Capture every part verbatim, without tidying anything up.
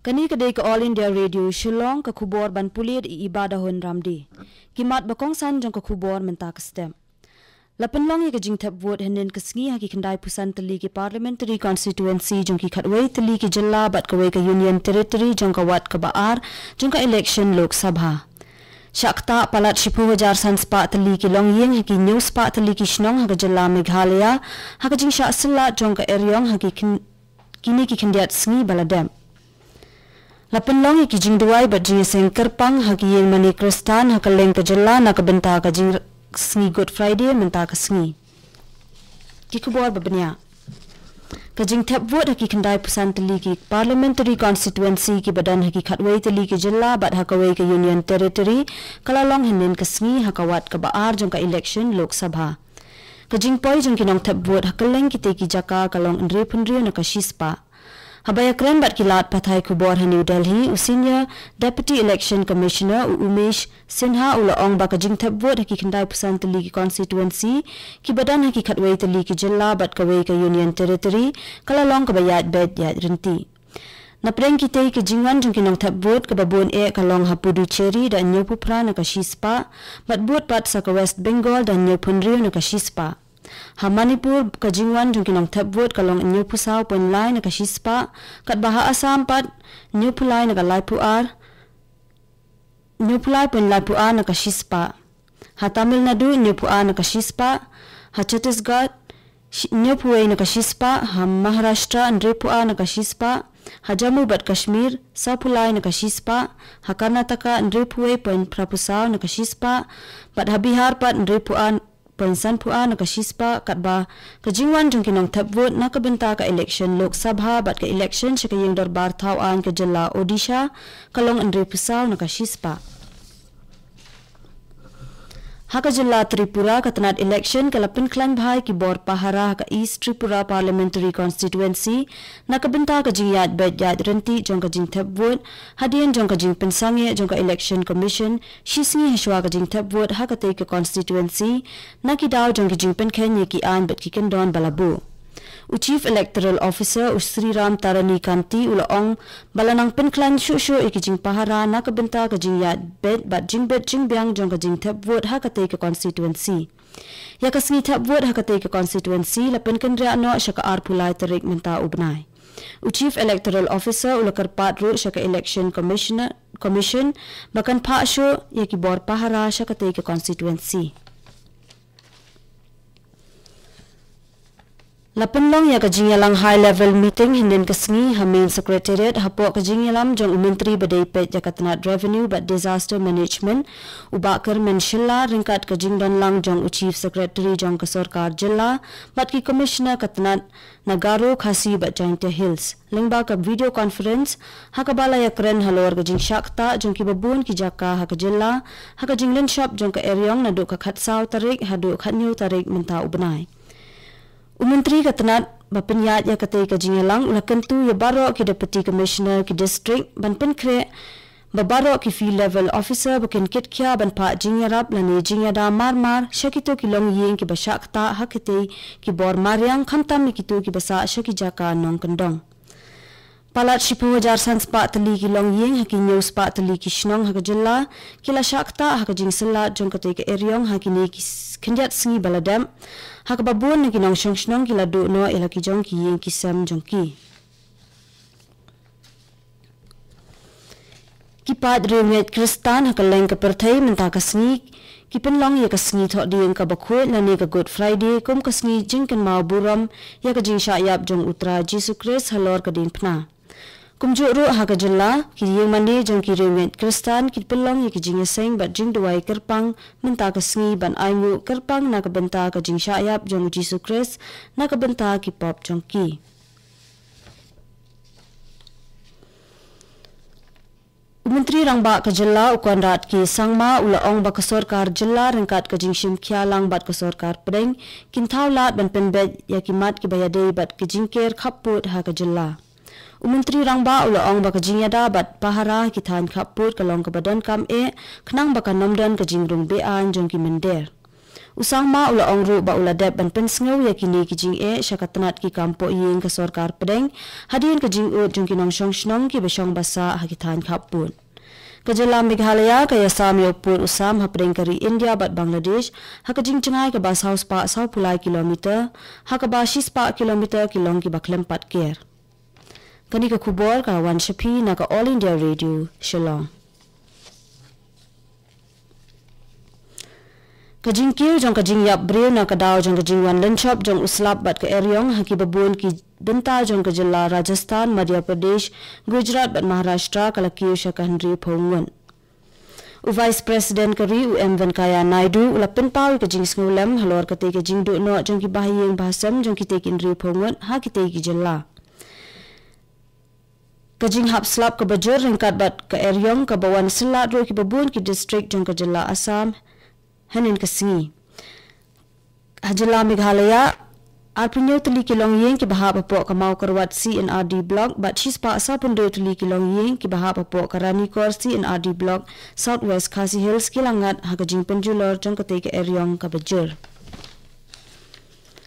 Kane ka dei ka All India Radio Shillong, ka khubor ban pule da i Iba Dahun Ramdi. Ki mat ba kongsan jong ka khubor mynta ka step. La pynlong ïa ka jingthep vote hynnin ka sngi ha ki khyndai phew san tylli ki parliamentary constituency jong ki khatwei tylli ki jylla bad kawei ka Union Territory jong ka wat kaba ar jong ka election Lok Sabha. Shah ktah palat shiphew hajar san spah tylli ki longïing ha ki hynñiew spah tylli ki shnong ha ka jylla Meghalaya ha ka jingshah syllat jong ka eriong ha ki khyn-, kine ki khyndiat sngi ba la dep. La pynlong ïa ki jingduwai bad jingïaseng kyrpang ha ki ïing mane Khristan ha kylleng ka jylla na ka bynta ka jingsngi Good Friday mynta ka sngi. Ki khubor ba bniah. Ka jingthep vote ha ki khyndai phew san tylli ki parliamentary constituency kiba don ha ki khatwei tylli ki jylla bad ha kawei ka Union Territory ka la long hynnin ka sngi ha ka wat kaba ar jong ka election Lok Sabha. Ka jingpoi jong ki nongthep vote ha kylleng kitei ki jaka ka long hynriewphew hynriew na ka shispah. Haba ïakren bad ki lad pathai khubor ha New Delhi, u Senior Deputy Election Commissioner u Umesh Sinha u la ong ba ka jingthep vote ha ki khyndai phew san tylli ki constituency kiba don ha ki khatwei tylli ki jylla bad kawei ka Union Territory ka la long kaba ïaid beit ïaid ryntih. Napdeng kitei, ka jingwan jong ki nongthep vote kaba bun eh ka long ha Puducherry da hynñiewphew phra na ka shispah, bad bud pat sa ka West Bengal da hynñiewphew hynriew na ka shispah. Ha Manipur, ka jingwan jong ki nongthep vote ka long hynñiewphew saw point lai na ka shispah, katba ha Assam pat hynñiewphew lai na ka laiphew ar, hynñiewphew lai point laiphew ar na ka shispah. Ha Tamil Nadu hynñiewphew ar na ka shispah, ha Chhattisgarh shi-, hynñiewphew wei na ka shispah, ha Maharashtra hynriewphew ar na ka shispah, ha Jammu bad Kashmir sawphew lai na ka shispah, ha Karnataka hynriewphew wei point phraphew saw na ka shispah, bad ha Bihar pat hynriewphew ar point sanphew ar na ka shispah, katba ka jingwan jong ki nongthep vote na ka bynta ka election Lok Sabha bad ka election sha ka ïing dorbar thaw aiñ ka jylla Odisha ka long hynriewphew saw na ka shispah. Ha ka jylla Tripura, ka tnat election ka la pynkhlaiñ bha ïa ki bor pahara ha ka East Tripura Parliamentary Constituency na ka bynta ka jingïaid beit ïaid ryntih jong ka jingthep vote, hadien jong ka jingpynsangeh jong ka Election Commission shisngi hashwa ka jingthep vote ha katei ka constituency, na ki daw jong ki jingpynkheiñ ïa ki aiñ bad ki kyndon ba la buh. U Chief Electoral Officer u Sriram Tarini Kanti u la ong ba la nang pynkhlaiñ shuh shuh ïa ki jingpahara na ka bynta ka jingïaid beit bad jingbit jingbiang jong ka jingthep vote ha katei ka constituency. Ïa ka sngi thep vote ha katei ka constituency la pynkynriah noh sha ka arphew lai tarik mynta u bnai. U Chief Electoral Officer u la kyrpad ruh sha ka Election Commissioner, Commission ba kan phah shuh ïa ki bor pahara sha katei ka constituency. La pynlong ïa ka jingïalang high level meeting hynnin ka sngi ha Main Secretariat hapoh ka jingïalam jong u Myntri ba dei peit ïa ka tnat Revenue bad Disaster Management, u Bah Kyrmen Shylla, ryngkat ka jingdonlang jong u Chief Secretary jong ka Sorkar Jylla bad ki Commissioner ka tnat na Garo, Khasi bad Jaintia Hills lyngba ka video conference, ha kaba la ïakren halor ka jingshah ktah jong kiba bun ki jaka ha ka jylla ha ka jinglynshop jong ka eriong naduh ka khatsaw tarik haduh khathynñiew tarik mynta u bnai. U Myntri ka tnat ba pynïaid ïa katei ka jingïalang u la kyntu ïa baroh ki Deputy Commissioner ki district ban pynkhreh ba baroh ki Field Level Officer ba kin kitkhia ban phah jingïarap lane jingïada mar mar sha kito ki longïing kiba shah ktah ha kitei ki bor mariang, khamtam ïa kito kiba sah sha ki jaka nongkyndong. Palat shiphew hajar san spah tylli ki longïing ha ki hynñiew spah tylli ki shnong ha ka jylla ki la shah ktah ha ka jingsyllat jong katei ka eriong ha kine ki s-, khyndiat sngi ba la dep, ha kaba bun na ki nongshong shnong ki la duh noh ïa la ki jong ki ïing ki sem jong ki. Ki paid riewngeit Khristan ha kylleng ka pyrthei mynta ka sngi ki pynlong ïa ka sngi Thohdieng kaba khuid lane ka Good Friday kum ka sngi jingkynmaw burom ïa ka jingshah ïap jong U Trai Jisu Khrist halor ka diengphna. Kumjuh ruh ha ka jylla, ki ïing mane jong ki riewngeit Khristan ki pynlong ïa ki jingïaseng bad jingduwai kyrpang mynta ka sngi ban ainguh kyrpang na ka bynta ka jingshah ïap jong U Jisu Khrist na ka bynta ki pop jong ki. U Myntri Rangbah ka jylla u Conrad K Sangma u la ong ba ka sorkar jylla ryngkat ka jingshim khia lang bad ka sorkar pdeng kin thaw lad ban pynbeit ïa ki mat kiba ïadei bad ka jingker khappud ha ka jylla. U Myntri Rangbah u la ong ba ka jingïada bad pahara ki thaiñ khappud ka long kaba donkam eh khnang ba kan ym don ka jingrung be-aiñ jong ki mynder. U Sangma u la ong ruh ba u la dep ban pynsngew ïa kine ki jingeh sha ka tnat ki kam poh ïing ka sorkar pdeng, hadien ka jingud jong ki nongshong shnong kiba shong ba sah ha ki thaiñ khappud. Ka jylla Meghalaya ka ïasam ïa u pud u sam hapdeng ka ri India bad Bangladesh ha ka jingjngai kaba saw spah saw phew lai kilometer, ha kaba shi spah kilometer ki long kiba khlem pat ker. Kane ka khubor ka wan sha phi na ka All India Radio, Shillong. Ka jingkiew jong ka jingïap briew na ka daw jong ka jingwan lynshop jong u slap bad ka eriong ha kiba bun ki bynta jong ka jylla Rajasthan, Madhya Pradesh, Gujarat bad Maharashtra ka la kiew sha ka hynriewphew ngut. U Vice President ka ri, u M Venkaiah Naidu, u la pynpaw ïa ka jingsngewlem halor katei ka jingduh noh jong ki bahaïing bahasem jong kitei ki hynriewphew ngut ha kitei ki jylla. Ka jinghap slap kaba jur ryngkat bad ka eriong kaba wan syllat ruh kiba bun ki district jong ka jylla Assam hynnin ka sngi. Ha jylla Meghalaya, arphew hynñiew tylli ki longïing kiba hap hapoh ka Mawkyrwat C and R D Block bad shi spah sawphew hynriew tylli ki longïing kiba hap hapoh ka Ranikor C and R D Block, South West Khasi Hills, ki la ngat ha ka jingpynjulor jong katei ka eriong kaba jur.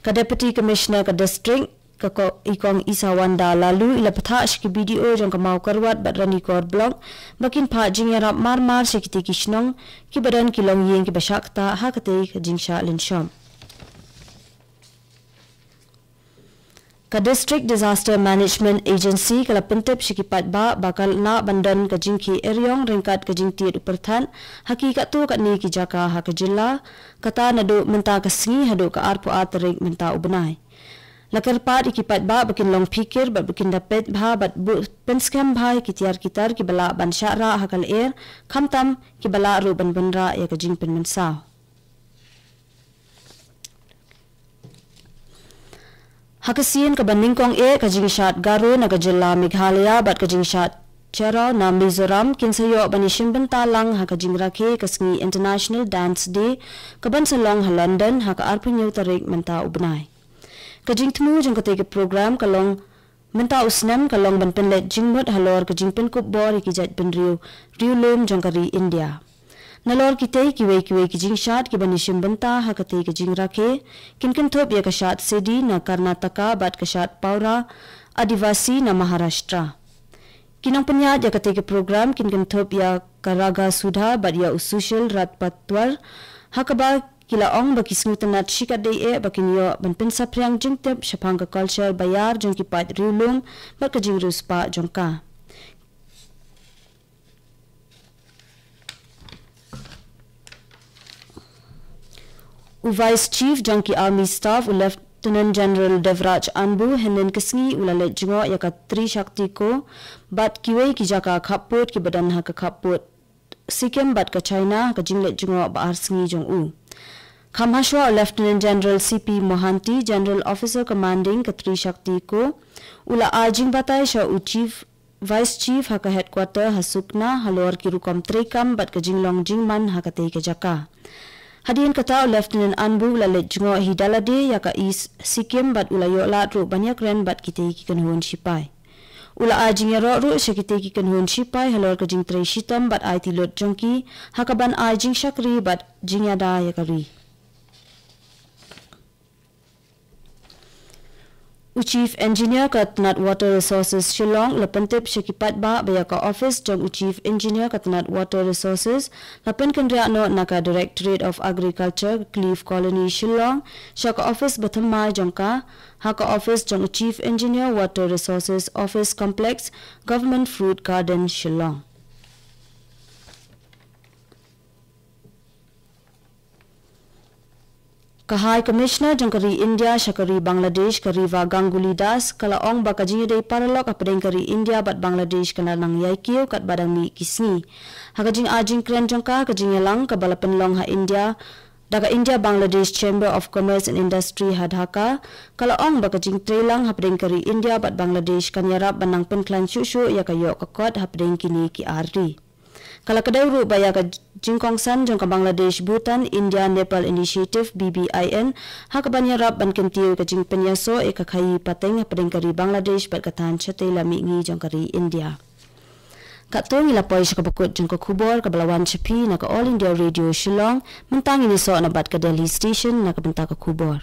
Ka Deputy Commissioner ka district, ka ko-, i Kong Isawanda Laloo, i la pynthah sha ki B D O jong ka Mawkyrwat bad Ranikor Block ba kin phah jingïarap mar mar sha kitei ki shnong kiba don ki longïing kiba shah ktah ha katei ka jingshah lynshop. Ka District Disaster Management Agency ka la pyntip sha ki paidbah ba kan lah ban don ka jingkhie eriong ryngkat ka jingtied u pyrthat ha ki katto katne ki jaka ha ka jylla, kata naduh mynta ka sngi haduh ka arphew ar tarik mynta u bnai. La kyrpad ïa ki paidbah ba kin long phikir bad ba kin da peit bha bad buh pynskhem bha ïa ki tiar ki tar kiba lah ban shah rah ha ka lyer, khamtam kiba lah ruh ban wanrah ïa ka jingpynmynsaw. Ha ka sien kaba nyngkong eh, ka jingshad Garo na ka jylla Meghalaya bad ka jingshad Cherraw na Mizoram kin sa ïoh ban ïashim bynta lang ha ka jingrakhe ka sngi International Dance Day kaban sa long ha London ha ka arphew hynñiew tarik mynta u bnai. Ka jingthmu jong katei ka program ka long mynta u snem ka long ban pynleit jingmut halor ka jingpynkup bor ïa ki jaitbynriew riewlum jong ka ri India. Nalor kitei kiwei kiwei ki jingshad kiban ïashim bynta ha katei ka jingrakhe kin kynthup ïa ka shad Sedi na Karnataka bad ka shad Paura Adivasi na Maharashtra. Ki nongpynïaid ïa katei ka program kin kynthup ïa ka Raga Sudha bad ïa u Sushil Rajpatwar, ha kaba ki la ong ba ki sngewtynnat shikatdei eh ba kin ïoh ban pynsaphriang jingtip shaphang ka culture ba ïar jong ki paid riewlum bad ka jingriewspah jong ka. U Vice Chief jong ki Army Staff, u Lieutenant General Devraj Anbu, hynnin ka sngi u la leit jngoh ïa ka Tri Shakti Corps bad kiwei ki jaka khappud kiba don ha ka khappud Sikkim bad ka China, ka jingleit jngoh ba ar sngi jong u. Kham hashwa, u Lieutenant General C P Mohanty, General Officer Commanding ka Tri Shakti Corps, u la ai jingbatai sha u Chief, Vice Chief ha ka headquarter ha Sukna halor ki rukom treikam bad ka jinglong jingman ha katei ka jaka. Hadien kata, u Lieutenant Anbu u la leit jngoh hi da lade ïa ka East Sikkim bad u la ïoh lad ruh ban ïakren bad kitei ki kynhun shipai. U la ai jingïaroh ruh sha kitei ki kynhun shipai halor ka jingtrei shitom bad aiti lut jong ki ha kaban ai jingshakri bad jingïada ïa ka ri. U Chief Engineer ka tnat Water Resources Shillong u la pyntip sha ki paidbah ba ïa ka office jong u Chief Engineer ka tnat Water Resources la pynkynriah noh na ka Directorate of Agriculture, Cliff Colony, Shillong, sha ka office ba thymmai jong ka, ha ka office jong u Chief Engineer Water Resources Office Complex, Government Fruit Garden, Shillong. Ka High Commissioner jong ka ri India sha ka ri Bangladesh, ka Riva Ganguly Das, ka la ong ba ka jingïadei paralok hapdeng ka ri India bad Bangladesh ka la nang ïai kiew katba dang mih ki sngi. Ha ka jingai jingkren jong ka ha ka jingïalang kaba la pynlong ha India da ka India Bangladesh Chamber of Commerce and Industry ha Dhaka, ka la ong ba ka jingtrei lang hapdeng ka ri India bad Bangladesh kan ïarap ban nang pynkhlaiñ shuh shuh ïa ka ïoh ka kot hapdeng kine ki ar ri. Ka la kdew ruh ba ïa ka jingkongsan jong ka Bangladesh Bhutan India Nepal Initiative, B B I N, ha kaban ïarap ban kyntiew ka jingpynïasoh ïa ka khaii pateng hapdeng ka ri Bangladesh bad ka thaiñ shatei la mihngi jong ka ri India. Katto ngi la poi sha kaba kut jong ka khubor kaba la wan sha phi na ka All India Radio Shillong. Mynta ngin ïasoh na bad ka Delhi Station na ka bynta ka khubor.